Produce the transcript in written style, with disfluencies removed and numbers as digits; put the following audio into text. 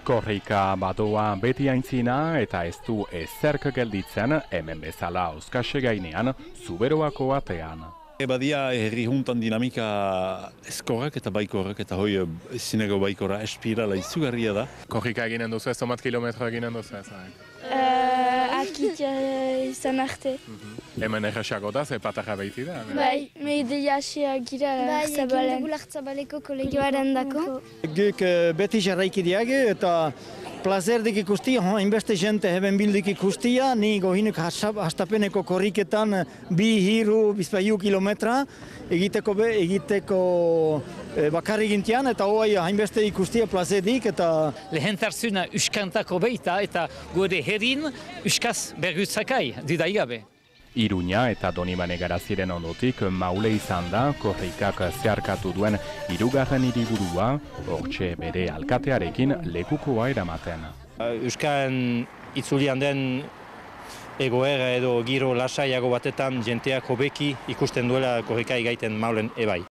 Korrika badoa beti aintzina eta ez du ezerk gelditzen hemen bezala Auskase gainean Zuberoako atean. Badia herri juntan dinamika eskorrak eta baikorrak eta hoi zineko baikora espirala izugarria da. Korrika eginen duzu ez, zomat kilometro eginen duzu ez? Akit izan arte. Hemen erresago da, ze patarra behiti da? Bai, mehideia asiak gira Lartzabaleko. Bai, Lartzabaleko kolegioaren dako. Guk beti jarraiki diage eta plazerdik ikustia, hainbeste jente heben bildik ikustia, ni gohinuk hastapeneko korriketan 2-3 kilometra egiteko bakarrik gintian eta hoi hainbeste ikustia plazedik eta... Lehentarzuna uskantako beita eta gure herrin uskaz bergutzakai didaigabe. Iruña eta Donibane Garaziren ondotik Maule izan da korrikak zeharkatu duen hirugarren hiriburua, hortxe bere alkatearekin lekukoa eramaten. Euskan itzulian den egoera edo giro lasaiago batetan jenteak hobeki ikusten duela korrika gaiten Maulen ebai.